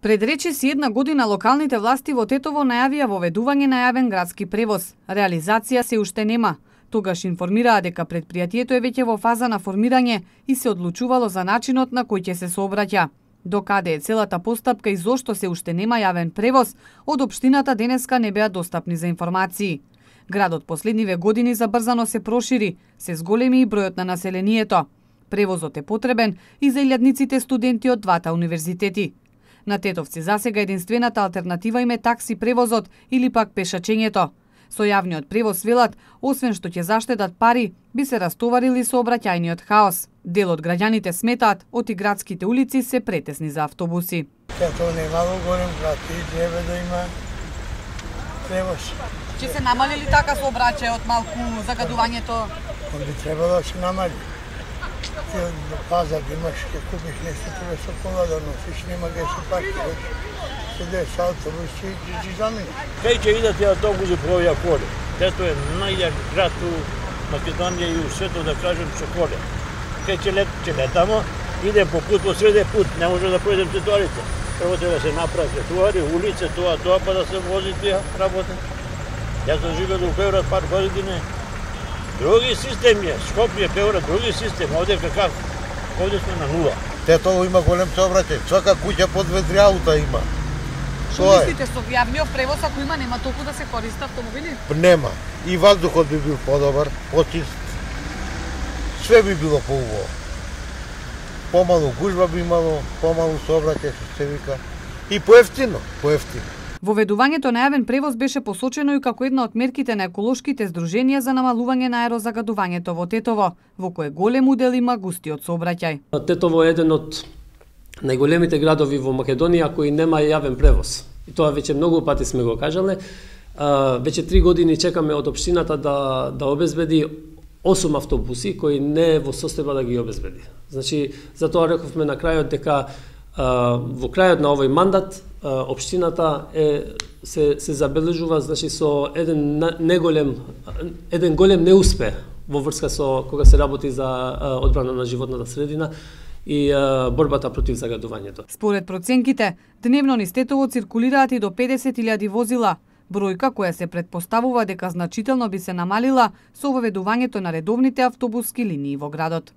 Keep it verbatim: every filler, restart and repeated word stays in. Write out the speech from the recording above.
Пред речиси една година локалните власти во Тетово најавија воведување на јавен градски превоз. Реализација се уште нема. Тогаш информираа дека предпријатието е веќе во фаза на формирање и се одлучувало за начинот на кој ќе се сообраќа. Докаде е целата постапка и зошто се уште нема јавен превоз, од општината денеска не беа достапни за информации. Градот последниве години забрзано се прошири, се зголеми и бројот на населението. Превозот е потребен и за илјадниците студенти од двата универзитети. На Тетовци засега единствената алтернатива им е такси превозот или пак пешачењето. Со јавниот превоз велат, освен што ќе заштедат пари, би се растоварили сообраќајниот хаос. Дел од граѓаните сметаат, оти градските улици се претесни за автобуси. Тетово немало голем град и треба да има превоз. Ќе се намали ли така сообраќајот малку загадувањето? Би требало да се намали. Ти до пазар имаш, ќе купиш нешто, треба со кола да носиш, нема ге се паркираш. Седеш со автобус и ги замени. Кај ќе идат и автобуси по овие коле? Тетово е најјак град у Македонија и у светот, да кажем, со коле. Кај ќе лет, ќе летамо, идем по пут, по среде пут, не може да појдем тротоарите. Прво треба да се направи тротоари, улице, тоа, тоа, па да се вози тие работи. Јас сум живеел у Београд пар години. Други системи е, Скопје, Београд, други системи, овде какав? Овде сме на нула. Тетово има голем сообраќај, свака куќа по две-три аута има. Што мислите, со јавниот превоз ако има нема толку да се користат автомобили? Нема. И ваздухот би бил подобар, почист. Све би било поубаво. Помалу гужба би имало, помалу сообраќај што се вика. И поевтино, поевтино. Воведувањето на јавен превоз беше посочено и како една од мерките на еколошките здруженија за намалување на аерозагадувањето во Тетово, во кое голем удел има густиот сообраќај. Тетово е еден од најголемите градови во Македонија кои нема јавен превоз. И тоа веќе многу пати сме го кажале. Веќе три години чекаме од општината да да обезбеди осум автобуси кои не е во состојба да ги обезбеди. Значи, затоа рековме на крајот дека во крајот на овој мандат општината е се се забележува, значи, со еден неголем еден голем неуспех во врска со кога се работи за одбрана на животната средина и борбата против загадувањето. Според проценките, дневно низ Тетово циркулираат и до педесет илјади возила, бројка која се претпоставува дека значително би се намалила со воведувањето на редовните автобуски линии во градот.